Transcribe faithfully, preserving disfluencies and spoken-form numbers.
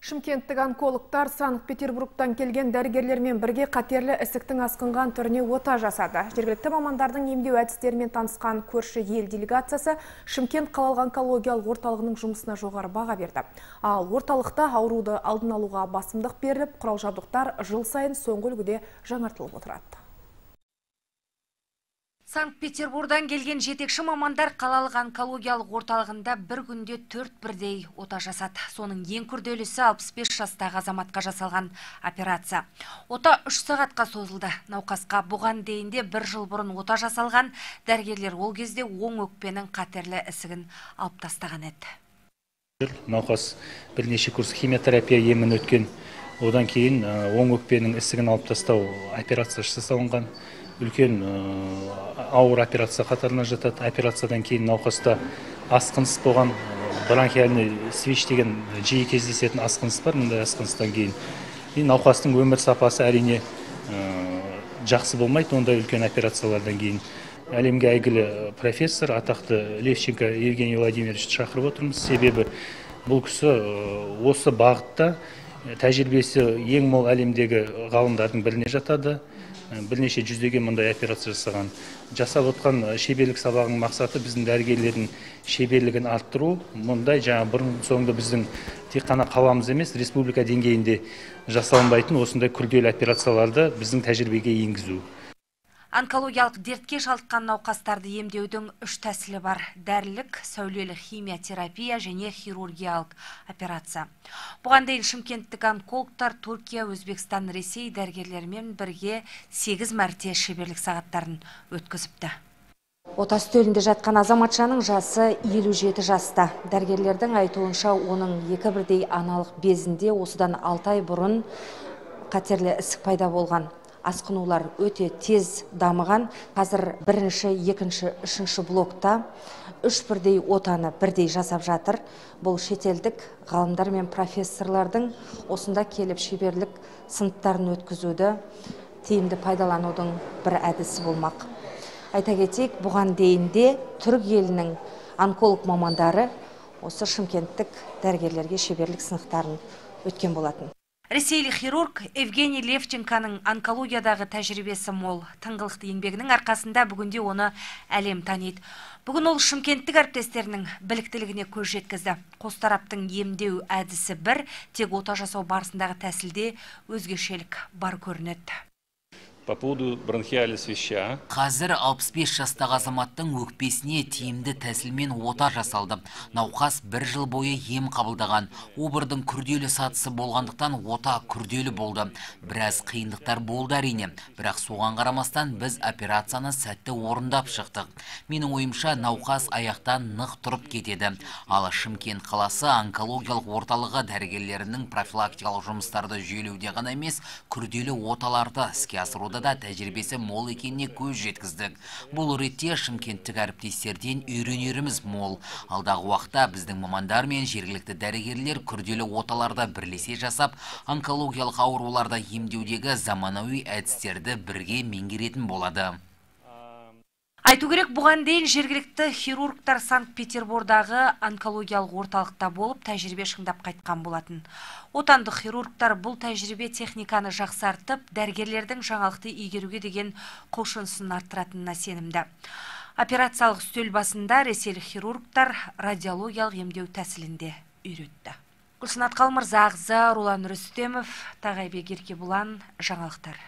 Шымкенттік онкологтар Санкт-Петербургтан келген дәрігерлермен бірге қатерлі ісіктің асқынған түріне ота жасады. Жергілікті мамандардың емдеу әдістерімен танысқан көрші ел делегациясы Шымкент қалалық онкологиялық орталығының жұмысына жоғары баға берді. Ал орталықта ауруды алдын алуға басымдық беріліп, құрал-жабдықтар жыл сайын соңғы үлгіде жаңартылып отырады. Санкт-Петербургдан келген жетекші мамандар қалалық онкологиялық орталығында бір күнде төрт бірдей ота жасады. Соның ең күрделісі алпыс бес жастағы азаматқа жасалған операция. Ота үш сағатқа созылды. Науқасқа бұған дейінде бір жыл бұрын ота жасалған, дәрігерлер ол кезде оң өкпенің қатерлі ісігін алып тастаған еді. Науқас бірнеше курс химиотерапия емін өткен, одан кейін оң өкпенің ісігін алып тастау операциясы жасалынған. Үлкен ауыр операция қатарына жатады. Операциядан кейін науқаста асқыныс болған, бронхиальный свич деген жиі кездесетін асқыныс бар. Мұндай асқыныстан кейін науқастың өмір сапасы әрине жақсы болмайды. Ондай үлкен операциялардан кейін әлемге әйгілі профессор, атақты Левченко Евгений Владимировичті шақырып отырмыз. Себебі бұл кісі осы бағытта тәжірибесі ең мол әлемдегі ғалымдардың біріне жатады. Бірнеше жүздеген мұндай операция жасаған. Жасап отқан шеберлік сабағының мақсаты біздің дәрігерлердің шеберлігін арттыру. Мұндай жаңа бұрын соңды біздің тек қана қаламыз емес, республика деңгейінде жасалынбайтын осындай күрделі операцияларды біздің тәжірибеге енгізу. Онкологиялық дертке шалдыққан науқастарды емдеудің үш тәсілі бар: дәрілік, сәулелі химиотерапия және хирургиялық операция. Бұған дейін шымкенттік онкологтар Түркия, Өзбекстан, Ресей дәрігерлерімен бірге сегіз мәрте шеберлік сағаттарын өткізіпті. Ота үстелінде жатқан азаматшаның жасы елу жеті жаста. Дәрігерлердің айтуынша оның екі бірдей аналық безінде осыдан алты ай бұрын қатерлі ісік пайда болған. Асқынулар өте тез дамыған. Қазір бірінші, екінші, үшінші блокта үш бірдей отаны бірдей жасап жатыр. Бұл шетелдік ғалымдар мен профессорлардың осында келіп шеберлік сыныптарын өткізуді тиімді пайдаланудың бір әдісі болмақ. Айта кетейік, бұған дейінде түрік елінің онколог мамандары осы шымкенттік дәрігерлерге шеберлік сынақтарын өткен болатын. Ресейлік хирург Евгений Левченконың онкологиядағы тәжірибесі мол. Тыңғылықты еңбегінің арқасында бүгінде оны әлем таниды. Бүгін ол шымкенттік әріптестерінің біліктілігіне көз жеткізді. Қос тараптың емдеу әдісі бір, тек ота жасау барысындағы тәсілде өзгешелік бар көрінеді. По поводу бронхиального свища. Қазір алпыс бес жастағы азаматтың өкпесіне тиімді тәсілмен ота жасалды. Науқас бір жыл бойы ем қабылдаған. Обырдың күрделі сатысы болғандықтан ота күрделі болды. Біраз қиындықтар болды әрине. Бірақ соған қарамастан біз операцияны сәтті орындап шықтық. Менің ойымша науқас аяқтан нық тұрып кетеді. Ал Шымкент қаласы онкологиялық орталығы дәрігерлерінің профилактикалық жұмыстарды жүйелеуде ғана емес, күрделі оталарды іске асыруда да тәжірибесі мол екеніне көз жеткіздік. Бұл ретте шымкенттік әріптестерден үйренеріміз мол. Алдағы уақытта біздің мамандар мен жергілікті дәрігерлер күрделі оталарда бірлесе жасап, онкологиялық ауруларды емдеудегі заманауи әдістерді бірге меңгеретін болады. Айту керек, бұған дейін жергілікті хирургтар Санкт-Петербургдағы онкологиялық орталықта болып тәжірибе шыңдап қайтқан болатын. Отандық хирургтар бұл тәжірибе техниканы жақсартып, дәрігерлердің жаңалықты игеруге деген құлшынысын арттыратынына сенімді. Операциялық үстел басында ресейлік хирургтар радиологиялық емдеу тәсілінде үйретті. Гүлсінат Қалмырза, Рулан Рүстемов, Тағайбек Еркебұлан, жаңалықтар.